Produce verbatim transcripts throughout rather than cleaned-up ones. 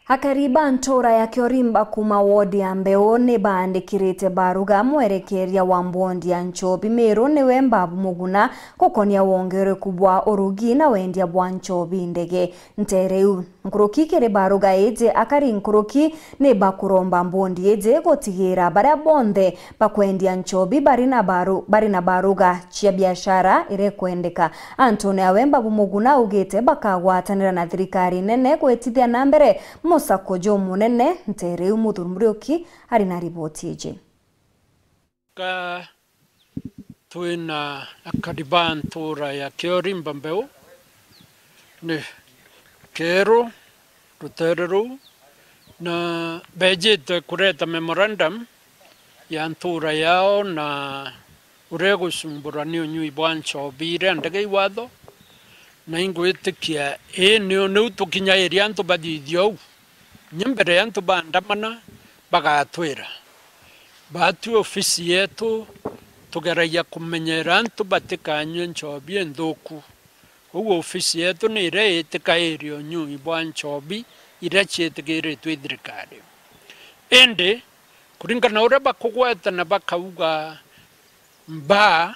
Akari ba ntuura ya Kiorimba kuuma wodi ya Mbeu ni baandikirite baruga mwerekeria wa mbondi ya Nchobi Miru niwe Mbabu Muguna gukonia wongereku bwa urugi na wendia bwa nchobi ndege nteere iu. Nkuruki kiri baruga iji, akari nkuruki ni bakuromba mbondi iji gutigira baria bonthe bakwendia nchobi bari na baru-, bari na baruga cia biashara iria ikwendeka. Antune awe Mbabu Muguna augite bakagwatanira na thirikari nene gwitithia na mbere musako jumunene nteere iu. Muthuri Muriuki ari na riboti iji. Ka twina akari ba ntuura ya Kiorimba Mbeu ni Keeru, ruteere ruu, na beejite kureta memorandum ya ntuura yao na uria igucumburwa ni unyui bwa nchobi iria ndege iwatho, na ingwitikia ii niu, niu tukinyairia antu bathithia uu. Kinya mbere ya antu baandamana, bagatwira. Baatwi ofisi yeetu, tugeragia kumenyera antu batikanyue nchobi inthuku. Uu ofisi yeetu ni iria itikairia unyui bwa nchobi iria ciitikiritwe i thirikari. Indi, kuringana na uria bakugwetana bakauga, mbaa,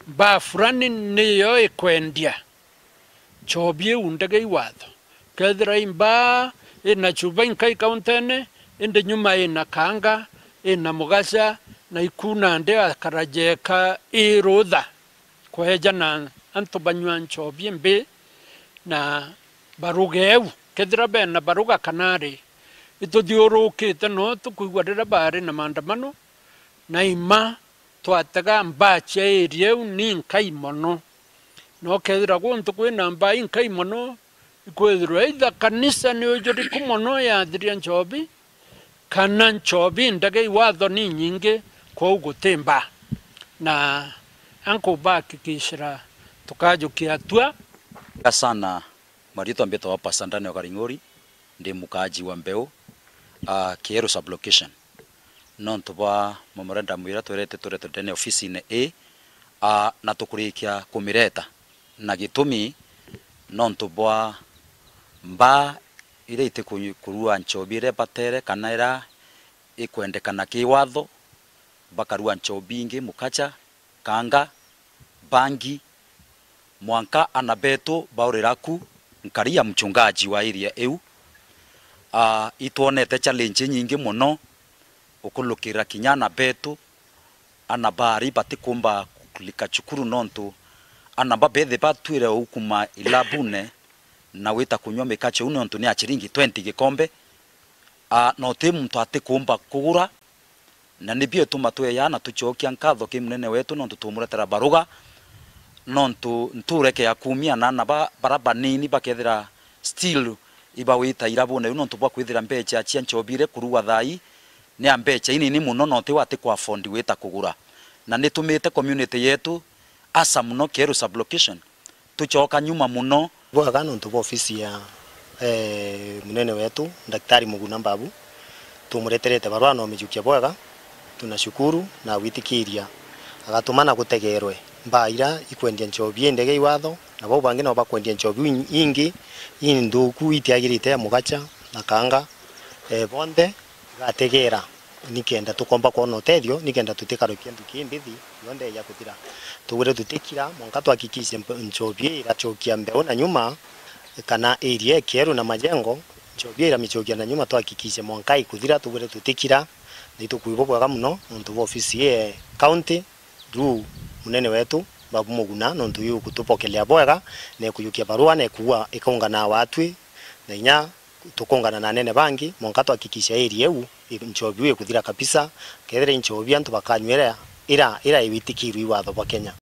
mbaa fulani niyo ikwendia nchobi iu ndege iwatho. Kethira i mbaa ina chuba inkai kauntene, indi nyuma ina kaanga, ina mugaca, na iku nandi akarajeka i rutha kweja na antu banyua nchobi imbi na baruga eu. Kethira bena baruga kana ri, ituthiurukite no tukwigua riria baari na maandamano, na ima twatega mbaa cia area iu ni nkai mono. Na ukethira guntu kwina mbaa inkai mono, ikwithirwa either kanisa ni ujuriku mono yathiria nchobi, kana nchobi ndege iwatho ni nyingi, kwou guti mbaa. Na ankubahakikishira tukajukia atua. Sana, mariitwa mbitagwa Pastor Daniel Karing'ori, ndi mukaaji wa Mbeu, a, Kieru sub-location. Nontu bwa memorandum iria twerete turetwe ndene ofisine ii, a, na tukurikia kumireta. Na gitumi, nontu bwa mbaa iria itikurua nchobi iria batere kana iria ikwendekana ki watho, bakarua nchobi ingi, mukacha, kanga, bangi, mwanka ana betu baurira ku nkari ya mchungaji wa area iu. Ah, itwonete challenge inyingi mono ukulukira kinya ana betu, ana baari batikumba kulika cukuru nontu ana ba bethi batwire ukuma ilabune na wita kunywa mikache uu nontu ni ya chiringi twenty gikombe. Ah, na uti muntu atikumba kugura. Na nibio ituma tweya na tucokia nkatho ki munene wetu nontu tumuretera baruga, nontu nturekea kumia na ana ba, bara banini bakethira still ibawita irabune iu nontu bwa kwithira mbecha cia nchobi iria ikurua thaa ii ni ya mbecha inini mono na uti wati ku afford gwita kugura. Na nitumite community yetu, asa mono Kieru sub-location, tucoka nyuma mono. Bwega nontu bwa ofisi ya, eh, munene wetu, Daktari Muguna Mbabu. Tumureterete barua na umijukia bwega. Tunashukuru na gwitikiria agatuma na gutegerwe mbaa ira ikwendia nchobi indege iwatho, na bau bangi nabo bakwendia nchobi in-, ingi inthuku itiagirite ya mugacha na kanga, eh, bonthe igategera. Nikenda tukomba kwona utethio, nikenda tutikarukia nduki imbithi yonthe ya kuthira. Tugwire tutikira, mwanka twahakikishe mp-, nchobi ii irachokia mbeu na nyuma, kana area Kieru na majengo, nchobi ii iramichokia na nyuma, twahakikishe mwanka ikuthira, tugwire tutikira, na itukwibwa bwega mono, nontu bwa ofisi ii county, through munene wetu, Babu Muguna, nontu yu gutupokelea bwega, na ikujukia barua, na ikuua ikaungana watwi, na inya tukungana na anene bangi, mwanka twahakikisha area iu, i-, nchobi iu ikuthira kabisa. Kethira i nchobi antu bakanyua ira, ira, ira iwitikirwe i watho bwa Kenya.